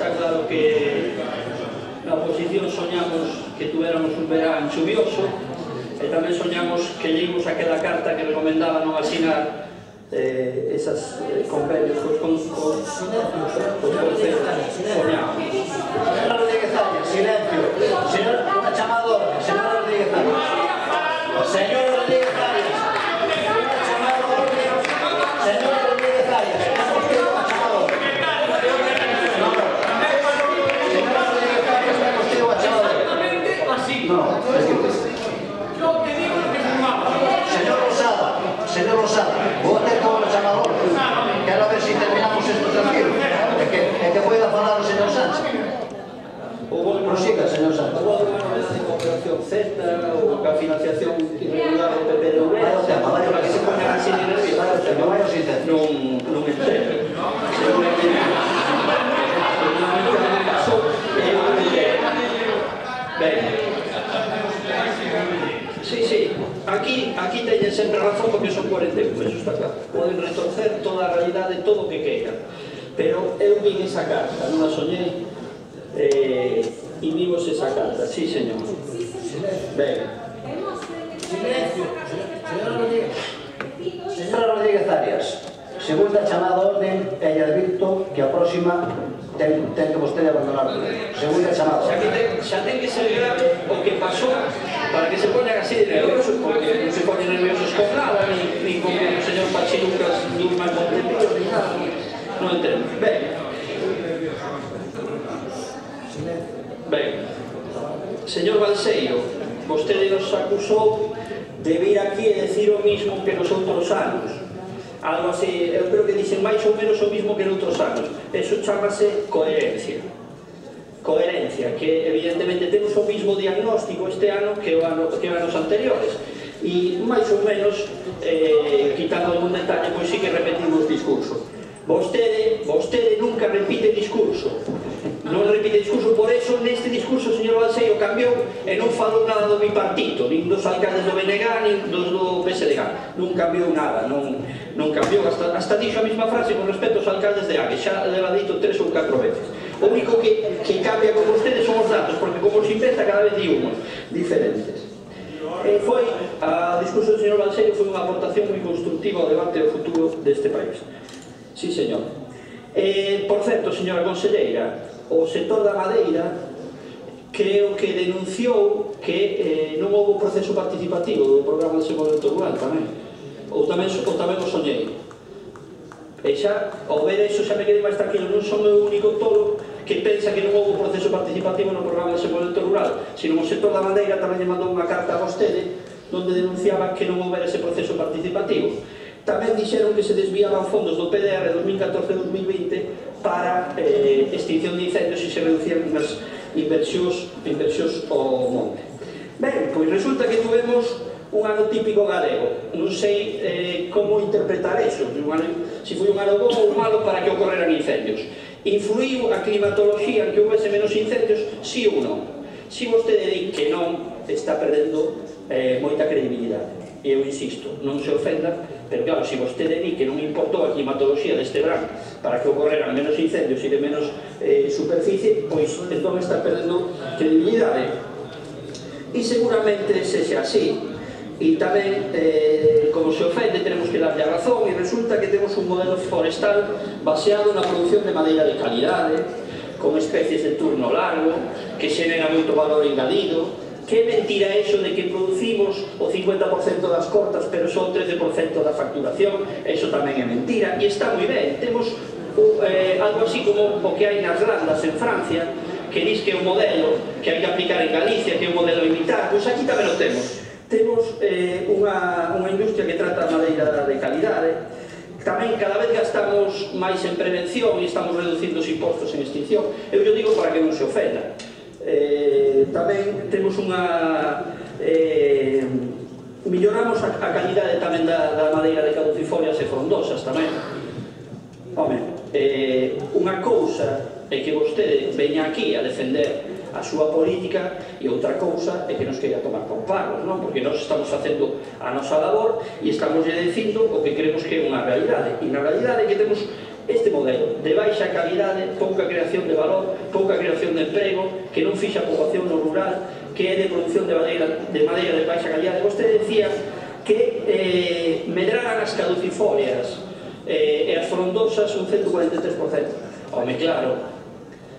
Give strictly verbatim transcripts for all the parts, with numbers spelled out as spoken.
está claro que na oposición soñamos que tuéramos un verán chuvioso e tamén soñamos que leímos aquela carta que recomendaba non asinar eh, esas eh, convenios cos concellos. Soñamos. Señora Rodríguez Arias, silencio. Señor, unha chamada de orde. Señora Rodríguez Arias. Señora Rodríguez Arias. Unha chamada de orde. Señora Rodríguez Arias. É vostede unha chamada de orde. No, no. Señora Rodríguez Arias, é vostede unha chamada de orde. No, es que... Yo que digo que fumaba. Señor Rosada, señor Rosada, vou ter que unha chamada de orde. Quero ver se terminamos isto tranquilo. É que, é que pueda falar o señor Sánchez. Prosiga, señor Sánchez. Houve unha novedade de Operación Z ou a financiación irregular do P P D V. Vai ao tema, vai ao para que se poñan así de nervios. Vai ao tema, vai ao sintetico. Non, non entendo. Seguramente non pasou e eu non entendo. Ben. Sí, sí. Aquí, aquí teñen sempre razón porque son cuarenta e un, eso está claro. Poden retorcer toda a realidade, todo o que queiran. Pero eu vin esa carta, non a soñei. Eh, y vimos esa carta, sí señor. Venga. Silencio. Señora Rodríguez. Señora Rodríguez Arias, segunda chamada a orden e lle advirto que a próxima ten, ten que vostede abandonar. Segunda chamada. Xa, que ten, xa ten que ser grave o que pasó para que se poñan así de nerviosos, porque non se poñen nerviosos con nada, ni, ni con o señor Pachilucas Durma Montepío, ni nada. Non entendo. Venga. Ben, señor Balseiro, vostede nos acusou de vir aquí e decir o mismo que nos outros anos. Algo así, eu creo que dicen máis ou menos o mismo que noutros anos. Eso chamase coherencia. Coherencia, que evidentemente temos o mismo diagnóstico este ano que o ano, que anos anteriores. E máis ou menos, eh, quitando algún detalle, pois sí que repetimos discurso. Vostede, vostede nunca repite discurso. Non repite discurso, por eso neste discurso o señor Balseiro cambiou e non falou nada do bipartito, nin dos alcaldes do B N G, nin dos do P S D G. Non cambiou nada, non, non cambiou, hasta, hasta dixo a mesma frase con respecto aos alcaldes de A G, xa leva dito tres ou catro veces. O único que, que cambia con vostedes son os datos, porque como se inventa cada vez di unhos diferentes. E foi, a discurso do señor Balseiro foi unha aportación moi constructiva ao debate do futuro deste país. Sí, señor. Eh, por certo, señora conselleira, o sector da madeira creo que denunciou que eh, non houve proceso participativo do programa de desenvolvemento rural tamén. Ou tamén, ou tamén o soñei. E xa, ao ver eso, xa me quedei máis tranquilo. Non son o único tolo que pensa que non houve proceso participativo no programa de desenvolvemento rural, sino o sector da madeira tamén lle mandou unha carta a vostede onde denunciaba que non houbera ese proceso participativo. Tamén dixeron que se desviaban fondos do P D R dos mil catorce a dos mil vinte para eh, extinción de incendios e se reducían as inversións, inversións ao monte. Ben, pois resulta que tuvemos un ano típico galego. Non sei eh, como interpretar eso, se foi un ano bom ou malo para que ocorreran incendios. Influiu a climatoloxía en que houvese menos incendios, sí ou non? Si vostede di que non, está perdendo eh, moita credibilidade. E eu insisto, non se ofenda, pero claro, se vostede di que non importou a climatoloxía deste verán para que ocorreran menos incendios e de menos eh, superficie, pois entón está perdendo credibilidade. E seguramente sexa así. E tamén, eh, como se ofende, tenemos que darlle a razón, e resulta que temos un modelo forestal baseado na produción de madeira de calidade, con especies de turno largo, que xenera moito valor engadido. Que mentira eso de que producimos o cincuenta por cento das cortas pero só o trece por cento da facturación? Eso tamén é mentira e está moi ben. Temos eh, algo así como o que hai nas landas en Francia, que dis que é un modelo que hai que aplicar en Galicia, que é un modelo a imitar. Pois aquí tamén o temos. Temos eh, unha, unha industria que trata a madeira de calidade. Tamén cada vez gastamos máis en prevención e estamos reducindo os impostos en extinción. Eu yo digo para que non se ofenda. Eh, tamén temos unha eh, milloramos a, a calidade tamén da, da madeira de caducifolias e frondosas tamén. Home, eh, unha cousa é que vostede veña aquí a defender a súa política e outra cousa é que nos queira tomar con pagos, non? Porque nós estamos facendo a nosa labor e estamos lle dicindo o que creemos que é unha realidade, e na realidade é que temos este modelo de baixa calidade, pouca creación de valor, pouca creación de emprego, que non fixa a poboación no rural, que é de produción de madeira de, madeira de baixa calidade. Vostede decía que eh, medraran as caducifolias eh, e as frondosas un ciento cuarenta e tres por cento. Home, claro,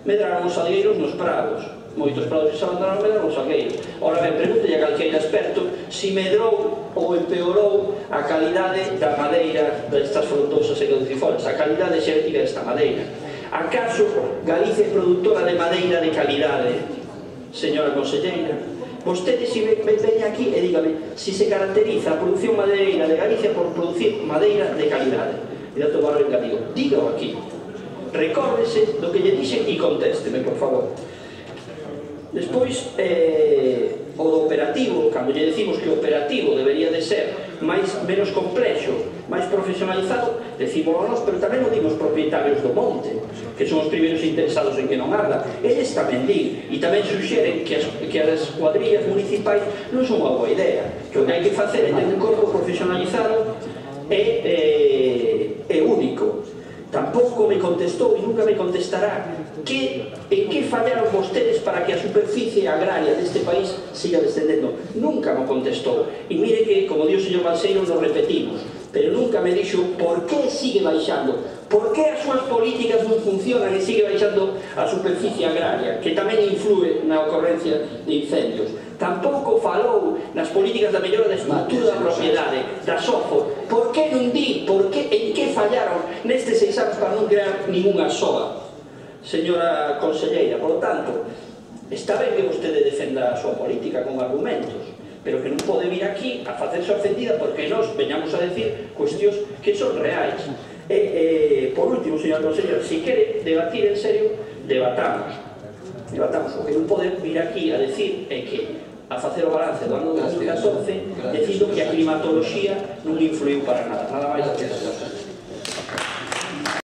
medraron os salgueiros nos prados, moitos prados que se abandonaron medraron os salgueiros. Ora ben, pregúntelle a calqueira experto si medrou ou empeorou a calidade da madeira destas frondosas e caducifolias, a calidade xénetica desta madeira. Acaso Galicia é produtora de madeira de calidade, señora conselleira? Vostede si veña aquí e dígame si se caracteriza a produción madeireira de Galicia por producir madeira de calidade. E dato barrio engadido, dígao aquí, recórdese do que lle dixen e contésteme, por favor. Despois, eh, o do operativo, cando lle decimos que o operativo debería de ser máis, menos complexo, máis profesionalizado, decímoslo nós, pero tamén o dimos propietarios do monte, que son os primeiros interesados en que non arda. Eles tamén din, e tamén suxeren que as, que as cuadrillas municipais non son unha boa idea, que o que hai que facer é ter un corpo profesionalizado e, eh, e único. Tampouco me contestou e nunca me contestará que, en que fallaron vostedes para que a superficie agraria deste país siga descendendo. Nunca me contestou. E mire que, como dio o señor Balseiro, nos repetimos, pero nunca me dixo por que sigue baixando, por que as súas políticas non funcionan e sigue baixando a superficie agraria, que tamén influe na ocorrencia de incendios. Tampouco falou nas políticas da mellora da estrutura da propiedade, da SOFO. Por que non di, por que, en que fallaron nestes seis anos para non crear ninguna soa? Señora conselleira, por lo tanto, está ben que vostede defenda a súa política con argumentos, pero que non pode vir aquí a facerse ofendida porque nós veñamos a decir cuestións que son reais. E, e por último, señora conselleira, se quere debatir en serio, debatamos. Debatamos. O que non pode vir aquí a decir é que a facer o balance do ano dos mil catorce dicindo que a climatoloxía non influiu para nada. Nada máis.